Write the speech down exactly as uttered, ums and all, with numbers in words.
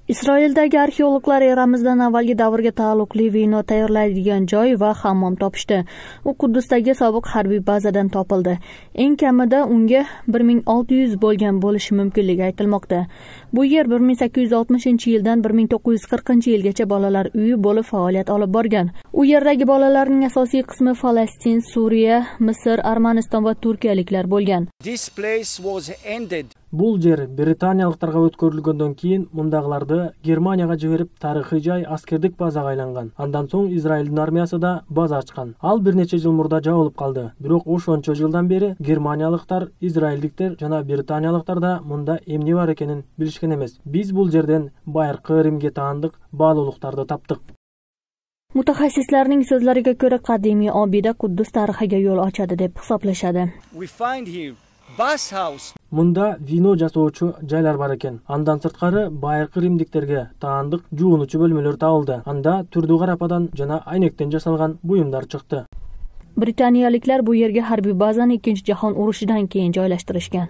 Isroildagi arxeologlar eramizdan avvalgi davrga taalluqli vino tayyorlaydigan joy va hammom topishdi. U Quddusdagi sobiq harbiy bazadan topildi. Eng kamida unga bir ming olti yuz bo'lgan bo'lishi mumkinligi aytilmoqda. Bu yer bir ming sakkiz yuz oltmishinchi yildan bir ming to'qqiz yuz qirqinchi yilgacha bolalar uyi bo'lib faoliyat olib borgan. U yerdagi bolalarning asosiy qismi Falastin, Suriya, Misr, Armaniston va turkiyaliklar bo'lgan. This place was ended. Бул жер британиялыктарга өткөрүлгөндөн кийин мундагыларды Германияга жиберип, тарыхый жай аскердик базага айланган. Андан соң Израилдин армиясы да база ачкан. Ал бир нече жыл мурда жабылып калды. Бирок ошончо жылдан бери германиялыктар, израилдиктер жана британиялыктар да мында эмне бар экенин билишкен эмес. Биз бул жерден байыркы Римге таандык баалуулуктарды таптык. Mutaxassislarning so'zlariga ko'ra, qadimiy obida Quddus tarixiga yo'l ochadi deb hisoblashadi. We find here bath house. Мында вино жасоочу жайлар бар экен. Андан сырткары байыркы римдиктерге таандык жуунучу бөлмөлөр табылды. Анда түрдүү карападан жана айнектен жасалган буюмдар чыкты. Britaniyaliklar bu yerga harbiy bazani Ikkinchi jahon urushidan keyin joylashtirishgan.